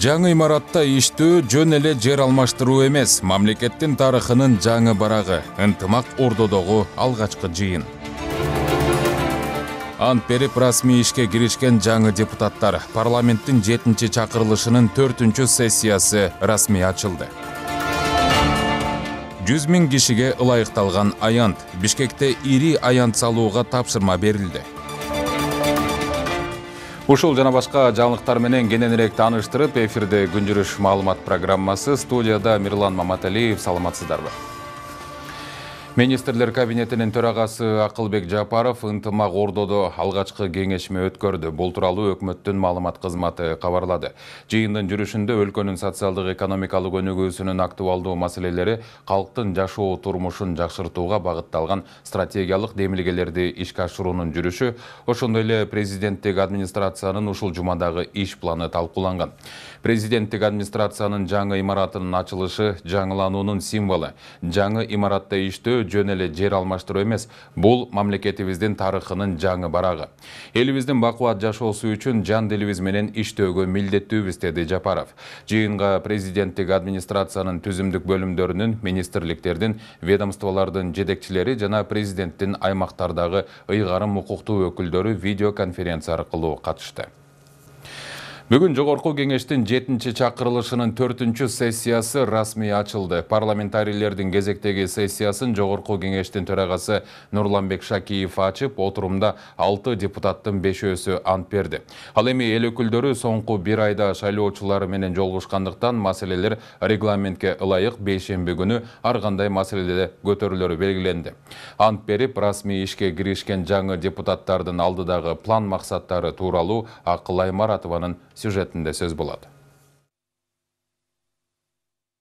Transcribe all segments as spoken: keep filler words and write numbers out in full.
Жаңы имаратта иштөө жөн эле жер алмаштыруу эмес, мамлекеттин тарыхынын жаңы барагы, ынтымак Ордодогу алгачкы жыйын. Ант берип расмий ишке киришкен жаңы депутаттар, парламенттин жетинчи чакырылышынын төртүнчү сессиясы расмий ачылды. жүз миң кишиге ылайыкталган аянт, Бишкекте ири аянт салууга тапшырма берилди. Ушул жана башка жаңылыктар менен кененирээк тааныштырып, эфирде күн жүрүш маалымат программасы, студияда Мирлан Маматалиев. Саламатсыздарбы? Министрлер кабинетинин төрагасы Акылбек Жапаров ынтымак Ордодо алгачкы кеңешме өткөрдү. Бул тууралуу өкмөттүн маалымат кызматы кабарлады. Жыйындын жүрүшүндө өлкөнүн социалдык экономикалык өнүгүүсүнүн актуалдуу маселелери калктын жашоо турмушун жакшыртууга багытталган стратегиялык демилгелерди ишке ашыруунун жүрүшү, ошондой эле президенттик администрациянын ушул жумадагы иш планы талкууланган. Президенттик администрациянын жаңы имаратынын ачылышы жаңылануунун символу. Жаңы имаратта иштөө жөн эле жер алмаштыруу эмес, бул мамлекетибиздин тарыхынын жаңы барагы. Элибиздин бакубат жашоосу үчүн жан дилибиз менен иштөөгө милдеттүүбүз, деди Жапаров. Жыйынга президенттик администрациянын түзүмдүк бөлүмдөрүнүн, министрликтердин, ведомстволордун жетекчилери жана президенттин аймактардагы ыйгарым укуктуу өкүлдөрү видеоконференция аркылуу катышты. Бүгүн Жогорку кеңештин жетинчи чакырылышынын төртүнчү сессиясы расмий ачылды. Парламентарийлердин кезектеги сессиясын Жогорку кеңештин төрагасы Нурланбек Шакиев ачып, отурумда алты депутаттын бешөөсү ант берди. Ал эми эл өкүлдөрү соңку бир айда шайлоочулар менен жолугушкандыктан маселелер регламентке ылайык бейшемби күнү ар кандай маселеде көтөрүлөрү белгиленди. Ант берип, расмий ишке киришкен жаңы депутаттардын алдыдагы план максаттары тууралуу Акыл Аймаратованын сюжетинде сөз болот.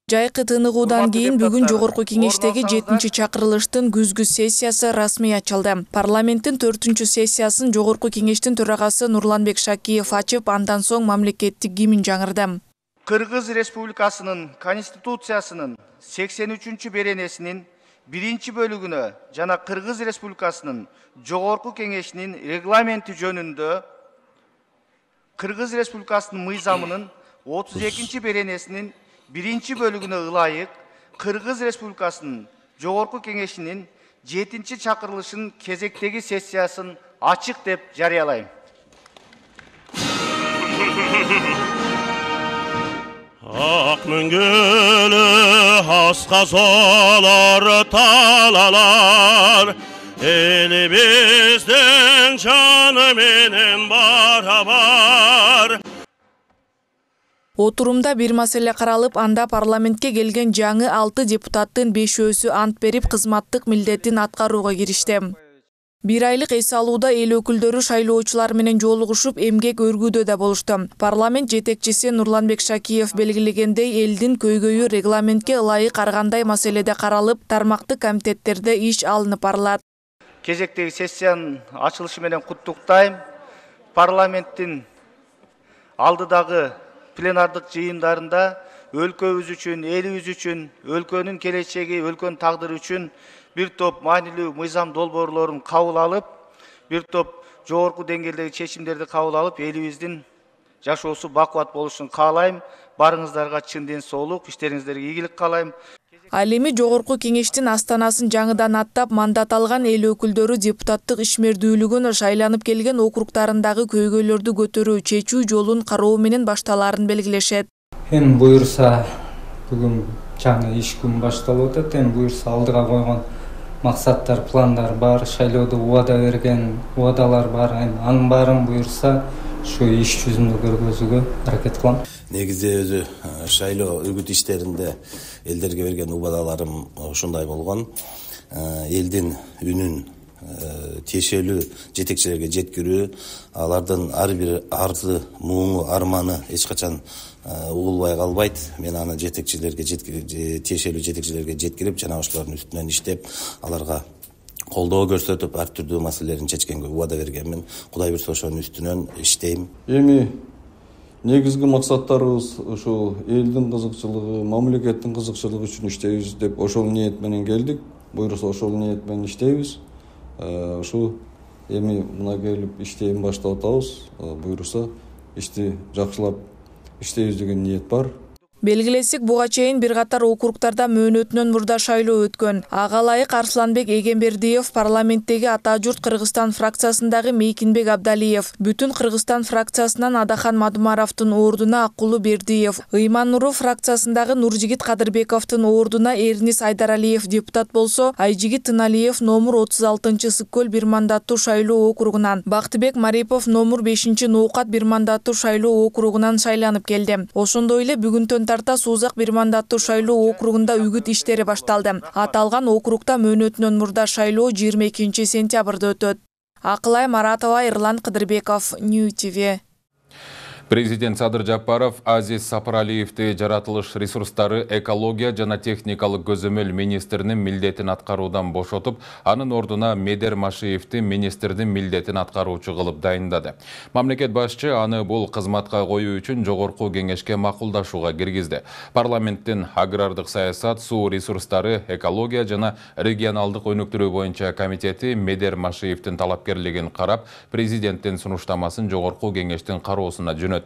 Жайкы тыныгуудан кийин бүгүн Жогорку кеңештеги жетинчи чакырылыштын күзгү сессиясы расмий ачылды. Парламенттин төртүнчү сессиясын Жогорку кеңештин төрагасы Нурланбек Шакиев ачып, андан соң мамлекеттик гимн жаңырды. Кыргыз Республикасынын Конституциясынын сексен үчүнчү беренесинин биринчи бөлүгүнө жана Кыргыз Республикасынын Жогорку кеңешинин регламенти жөнүндө Кыргыз Республикасынын мыйзамынын отуз экинчи беренесинин биринчи бөлүгүнө ылайык Кыргыз Республикасынын Жогорку кеңешинин жетинчи чакырылышынын кезектеги сессиясын ачык деп жарыялайм. Ак мөңгөлө аска солор талалар, элибиздин жаны менен барабар. Отурумда бир маселе каралып, анда парламентке келген жаңы алты депутаттын бешөөсү ант берип, кызматтык милдетин аткарууга киришти. Бир айлык эс алууда эл өкүлдөрү шайлоочулар менен жолугушуп, эмгек өргүүдө да болушту. Парламент жетекчиси Нурланбек Шакиев белгилегендей, элдин көйгөйү регламентке ылайык ар кандай маселеде каралып, тармактык комитеттерде иш алынып барылат. Кезектеги сессиянын ачылышы менен куттуктайм. Парламенттин алдыдагы пленардык жыйындарында өлкөбүз үчүн, элибиз үчүн, өлкөнүн келечеги, өлкөнүн тагдыры үчүн бир топ маанилүү мыйзам долбоорлорун кабыл алып, бир топ жогорку деңгээлдеги чечимдерди кабыл алып, элибиздин жашоосу бакубат болушун каалайм. Барыңыздарга чын ден соолук, иштериңиздерге ийгилик каалайм. Ал эми Жогорку кеңештин астанасын жаңыдан аттап, мандат алган эл өкүлдөрү депутаттык ишмердүүлүгүн шайланып келген округдарындагы көйгөйлөрдү көтөрүү, чечүү жолун кароо менен башталаарын белгилешет. Эми буюрса, бүгүн жаңы иш күн башталып атат. Эми буюрса алдыга койгон максаттар, пландар бар, шайлоодо убада берген убадалар бар. Эми анын баарын буюрса ушу иш жүзүндө көргөзүүгө аракет кылам. Негизде өзү шайлоо үгүт иштеринде элдерге берген убадаларым ушундай болгон. Элдин үнүн тиешелүү жетекчилерге жеткирүү, алардын ар бир арзы, муңу, арманы эч качан угулбай калбайт. Мен аны жетекчилерге тиешелүү жетекчилерге жеткирип, жана ошолордун үстүнөн иштеп, аларга колдоо көрсөтүп ар түрдүү маселелерин чечкенге убада бергенмин. Кудай буйрса ошонун үстүнөн иштейм. Эми негизги максаттарыбыз ошол элдин кызыкчылыгы, мамлекеттин кызыкчылыгы үчүн иштейбиз деп ошол ниет менен келдик. Буйрса ошол ниет менен иштейбиз. Ошо эми мына келип иштейм баштап атабыз. Буйрса ишти жакшылап иштейбиз деген ниет бар. Белгилесек, буга чейин бир катар округтарда мөөнөтүнөн мурда шайлоо өткөн. Ага ылайык Арсланбек Эгембердиев парламенттеги Ата журт Кыргызстан фракциясындагы Мейкинбек Абдалиев, Бүтүн Кыргызстан фракциясынан Адахан Мадумаровдун ордуна Аккулу Бердиев, Ыйман Нуру фракциясындагы Нуржигит Кадырбековдун ордуна Эрнис Айдаралиев депутат болсо, Айжигит Тыналиев номер отуз алтынчы Сыккөл бир мандаттуу шайлоо округунан, Бактыбек Марипов номер бешинчи Ноокат бир мандаттуу шайлоо округунан шайланып келди. Ошондой эле бүгүнтөн тарта Сузак бир мандаттуу шайлоо округунда үгүт иштери башталды. Аталган округда мөөнөтүнөн мурда шайлоо жыйырма экинчи сентябрда өтөт. Акылай Маратова, Эрлан Кыдырбеков, Нью ти ви. Президент Садыр Жапаров Азиз Сапаралиевди жаратылыш ресурстары, экология жана техникалык көзөмөл министринин милдетин аткаруудан бошотуп, анын ордуна Медер Машиевди министрдин милдетин аткаруучу кылып дайындады. Мамлекет башчы аны бул кызматка коюу үчүн жогорку кеңешке макулдашууга киргизди. Парламенттин агрардык саясат, суу ресурстары, экология жана регионалдык өнүктүрүү боюнча комитети Медер Машиевдин талапкерлигин карап, президенттин сунуштамасын жогорку кеңештин кароосуна жөнөттү.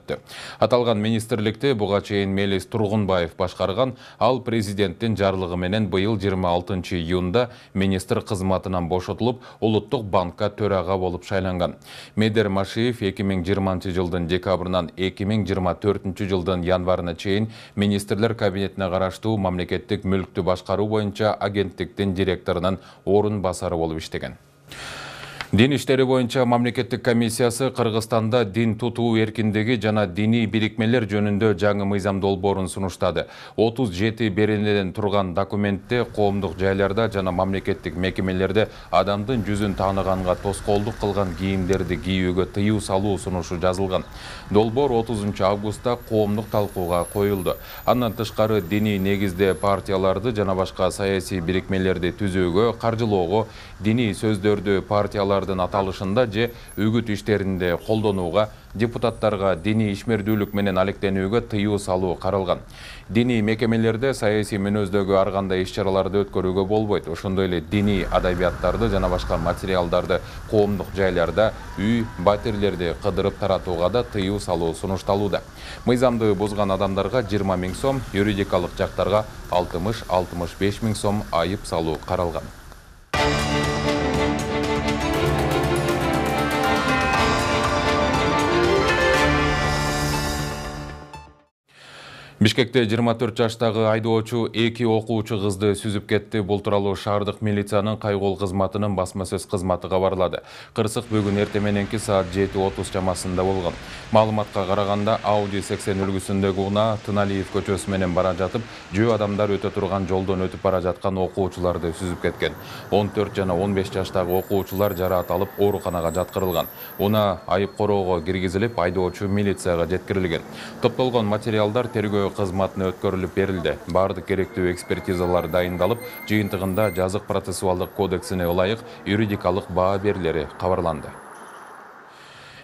Аталган министрликти буга чейин Мелис Тургунбаев башкарган, ал президенттин жарлыгы менен быйыл жыйырма алтынчы июнда министр кызматынан бошотулуп, Улуттук банкка төрага болуп шайланган. Медер Машиев эки миң жыйырманчы жылдын декабрынан эки миң жыйырма төртүнчү жылдын январына чейин министрлер кабинетине караштуу мамлекеттик мүлктү башкаруу боюнча агенттиктин директорунун орун басары болуп иштеген. Дин иштери боюнча мамлекеттик комиссиясы Кыргызстанда дин тутуу эркиндиги жана диний бирикмелер жөнүндө жаңы мыйзам долбоорун сунуштады. отуз жети беренеден турган документте коомдук жайларда жана мамлекеттик мекемелерде адамдын жүзүн тааныганга тоскоолдук кылган кийимдерди кийүүгө тыюу салуу сунушу жазылган. Долбоор отузунчу августта коомдук талкууга коюлду. Андан тышкары диний негизде партияларды жана башка саясий бирикмелерди түзүүгө, каржылоого, диний сөздөрдү партиялар аталышында же үгүт иштеринде колдонууга, депутаттарга диний ишмердүүлүк менен алектенүүгө тыюу салуу каралган. Диний мекемелерде саясий мүнөздөгү ар кандай иш-чараларды өткөрүүгө болбойт. Ошондой эле диний адабияттарды жана башка материалдарды коомдук жайларда, үй, батирлерди кыдырып таратууга да тыюу салуу сунушталууда. Мыйзамды бузган адамдарга жыйырма миң сом, юридикалык жактарга алтымыш — алтымыш беш миң сом айып салуу каралган. Бишкекте жыйырма төрт жаштагы айдоочу эки окуучу кызды сүзүп кетти. Бул тууралуу шаардык милициянын кайгол кызматынын басма сөз кызматы кабарлады. Кырсык бүгүн эрте мененки саат жети отуз чамасында болгон. Маалыматка караганда Audi сексен үлгүсүндөгү унаа Тыналиев көчөсү менен бара жатып, жөө адамдар өтө турган жолдон өтүп бара жаткан окуучуларды сүзүп кеткен. он төрт жана он беш жаштагы окуучулар жараат алып ооруканага жаткырылган. Унаа айып короого киргизилип, айдоочу милицияга жеткирилген. Топтолгон материалдар тергөө кызматына өткөрүлүп берилди. Бардык керектүү экспертизалар дайындалып, жыйынтыгында жазык процессуалдык кодексине ылайык юридикалык баа берилери кабарланды.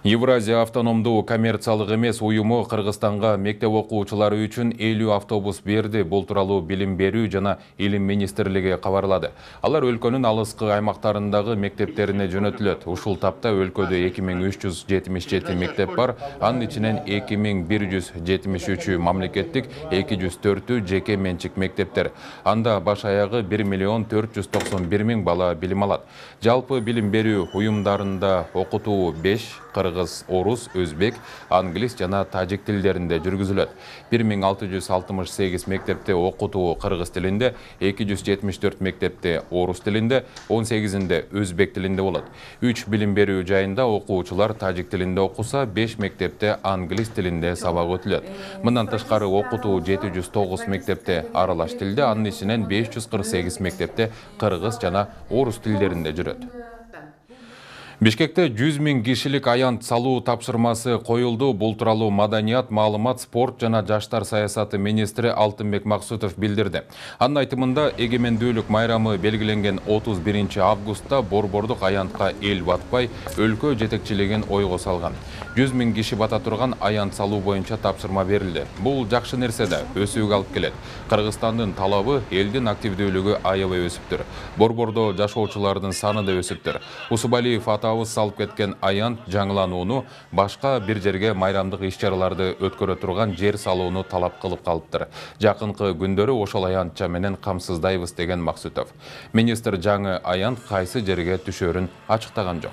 Евразия автономдуу коммерциялык эмес уюму Кыргызстанга мектеп окуучулары үчүн элүү автобус берди. Бул тууралуу Билим берүү жана Илим министрлиги кабарлады. Алар өлкөнүн алыскы аймактарындагы мектептерине жөнөтүлөт. Ушул тапта өлкөдө эки миң үч жүз жетимиш жети мектеп бар. Анын ичинен эки миң бир жүз жетимиш үчү мамлекеттик, эки жүз төртү жеке менчик мектептер. Анда баш аягы бир миллион төрт жүз токсон бир миң бала билим алат. Жалпы билим берүү уюмдарында окутуу беш, кыргыз, орус, өзбек, англис жана тажик тилдеринде жүргүзүлөт. бир миң алты жүз алтымыш сегиз мектепте окутуу кыргыз тилинде, эки жүз жетимиш төрт мектепте орус тилинде, он сегизинде өзбек тилинде болот. үч билим берүү жайында окуучулар тажик тилинде окуса, беш мектепте англис тилинде сабак өтүлөт. Мындан тышкары окутуу жети жүз тогуз мектепте аралаш тилде, анын ичинен беш жүз кырк сегиз мектепте кыргыз жана орус тилдеринде жүрөт. Бишкекте жүз миң кишилик аянт салуу тапшырмасы коюлду. Бул тууралуу Маданият, маалымат, спорт жана жаштар саясаты министри Алтынбек Максутов билдирди. Анын айтымында эгемендүүлүк майрамы белгиленген отуз биринчи августта борбордук аянтка эл батпай, өлкө жетекчилигин ойго салган. жүз миң киши бата турган аянт салуу боюнча тапшырма берилди. Бул жакшы нерсе да, өсүүгө алып келет. Кыргызстандын талабы, элдин активдүүлүгү аябай өсүптүр. Борбордо жашоочулардын саны да өсүптүр. Усубалиев атабыз салып кеткен аянт жаңыланууну, башка бир жерге майрамдык иш-чараларды өткөрө турган жер салууну талап кылып калыптыр. Жакынкы күндөрү ошол аянтча менен камсыздайбыз деген Максутов. Министр жаңы аянт кайсы жерге түшөрүн ачыктаган жок.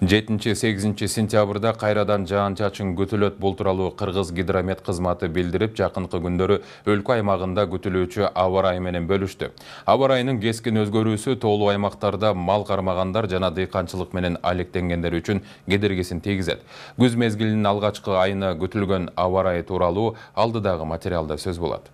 жетинчи сегизинчи сентябрда кайрадан жаан-чачын күтүлөт. Бул тууралуу Кыргыз гидромет кызматы билдирип, жакынкы күндөрү өлкө аймагында күтүлүүчү аба ырайы менен бөлүштү. Аба ырайынын кескин өзгөрүүсү тоолуу аймактарда мал кармагандар жана дыйканчылык менен алектенгендер үчүн кедергисин тийгизет. Күз мезгилинин алгачкы айына күтүлгөн аба ырайы тууралуу алдыдагы материалда сөз болот.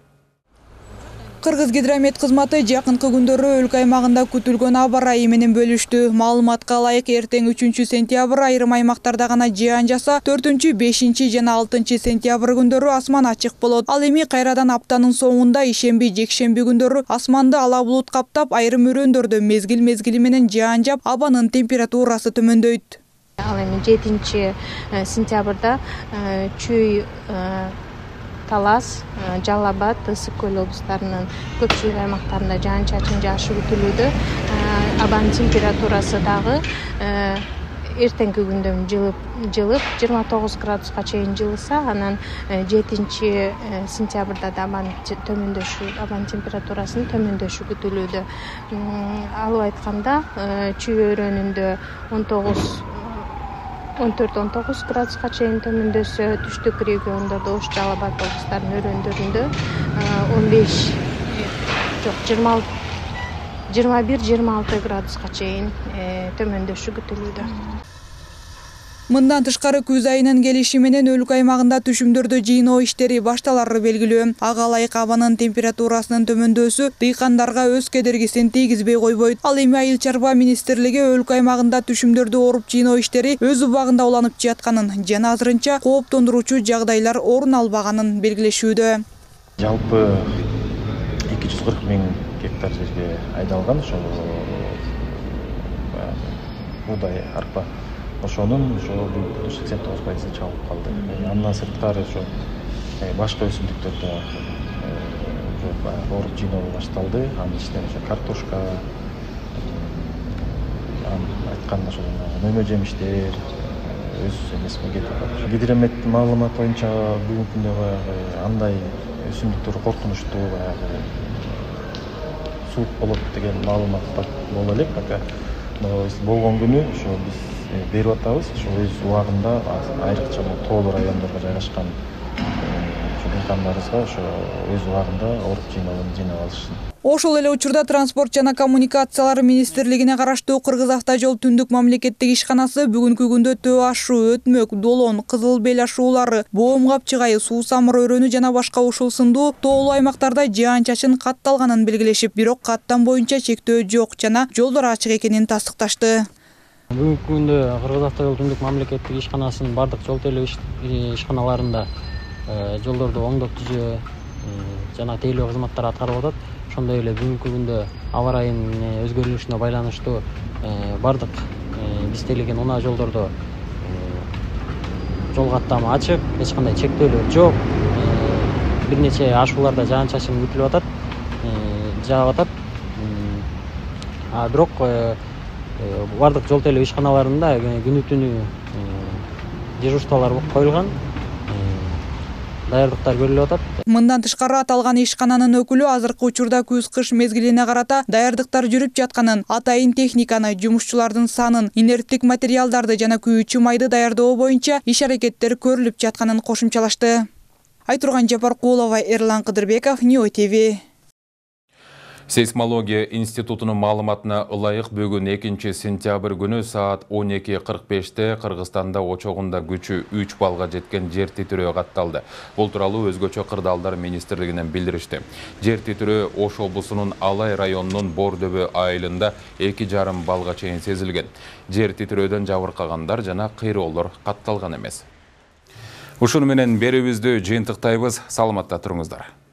Кыргыз гидромет кызматы жакынкы күндөрү өлкө аймагында күтүлгөн аба ырайы менен бөлүштү. Маалыматка ылайык, эртең үчүнчү сентябрь айрым аймактарда гана жаан жаса, төртүнчү, бешинчи жана алтынчы сентябрь күндөрү асман ачык болот. Ал эми кайрадан аптанын соңунда ишемби, жекшемби күндөрү асманды ала булут каптап, айрым өрөөндөрдө мезгил-мезгили менен жаан жаап, абанын температурасы төмөндөйт. Ал эми жетинчи сентябрда Чүй, Талас, Жалал Абад, Ысык көл облустарынын көпчүлүк аймактарында жаан-чачын жаашы күтүлүүдө. Абанын температурасы дагы эртеңки күндөн жылып, жылып жыйырма тогуз градуска чейин жылыса, анан жетинчи сентябрда да абанын төмөндөшү, абанын температурасынын төмөндөшү күтүлүүдө. Алып айтканда, Чүй өрөөнүндө он тогуз он төрт он тогуз градуска чейин төмөндөсө, түштүк региондордо Ош, Жалал Абад облустарынын өрөөндөрүндө он беш жок жыйырма бир жыйырма алты градуска чейин төмөндөшү күтүлүүдө. Мындан тышкары күз айынын келиши менен өлкө аймагында түшүмдөрдө жыйноо иштери башталары белгилүү. Ага ылайык абанын температурасынын төмөндөсү дыйкандарга өз кедергисин тийгизбей койбойт. Ал эми Айыл чарба министрлиги өлкө аймагында түшүмдөрдү оруп жыйноо иштери өз убагында уланып жатканын жана азырынча кооптондуруучу жагдайлар орун албаганын белгилешүүдө. Жалпы эки жүз кырк миң гектар жерге айдалган ошол буудай, арпа. Ошонун ошо сексен тогуз пайызы чалып калды. Андан сырткары ошо башка өсүмдүктөр да оруп жыйноо башталды. Анын ичинен ошо картошка, айтканда ошо мөмө жемиштер өз эмесине кетип калды. Гидрометтин маалыматы боюнча бүгүнкү күндө баягы андай өсүмдүктөр коркунучтуу, баягы суук болот деген маалымат боло элек. Болгон күнү ошо биз берип атабыз. Ошо өз убагында айрыкча тоолуу райондорго жайгашкан дыйкандарыбызга ошо өз убагында оруп жыйноолорун жыйнап алышсын. Ошол эле учурда Транспорт жана коммуникациялар министрлигине караштуу Кыргыз автожол түндүк мамлекеттик ишканасы бүгүнкү күндө Төө ашуу, Өтмөк, Долон, Кызыл Бел ашуулары, Боом Капчыгай, Суу Самыр өрөөнү жана башка ушул сындуу тоолуу аймактарда жаан-чачын катталганын белгилешип, бирок каттам боюнча чектөө жок жана жолдор ачык экенин тастыкташты. Бүгүнкү күндө Кыргыз автожол түндүк мамлекеттик ишканасынын бардык жол тейлөө ишканаларында жолдорду оңдоп түзөө жана тейлөө кызматтары аткарылып атат. Ошондой эле бүгүнкү күндө аба ырайынын өзгөрүлүшүнө байланыштуу бардык биз тейлеген унаа жолдордо жол каттамы ачык, эч кандай чектөөлөр жок. Бир нече ашууларда жаан-чачын күтүлүп атат, жаап атат. А бирок бардык жол тейлөө ишканаларында күнү түнү дежурстволор коюлган, даярдыктар көрүлүп атат. Мындан тышкары аталган ишкананын өкүлү азыркы учурда күз-кыш мезгилине карата даярдыктар жүрүп жатканын, атайын техниканы, жумушчулардын санын, инерттик материалдарды жана күйүүчү майды даярдоо боюнча иш-аракеттер көрүлүп жатканын кошумчалашты. Айтурган Жапаркулова, Эрлан Кыдырбеков, Ньюс ТВ. Сейсмология институтунун маалыматына ылайык бүгүн экинчи сентябрь күнү саат он эки кырк беште Кыргызстанда очогунда күчү үч балга жеткен жер титирөө катталды. Бул тууралуу Өзгөчө кырдаалдар министрлигинен билдиришти. Жер титирөө Ош облусунун Алай районунун Бордөбө айылында эки жарым балга чейин сезилген. Жер титирөөдөн жабыркагандар жана кыйроолор катталган эмес. Ушуну менен берүүбүздү жыйынтыктайбыз. Саламатта туруңуздар.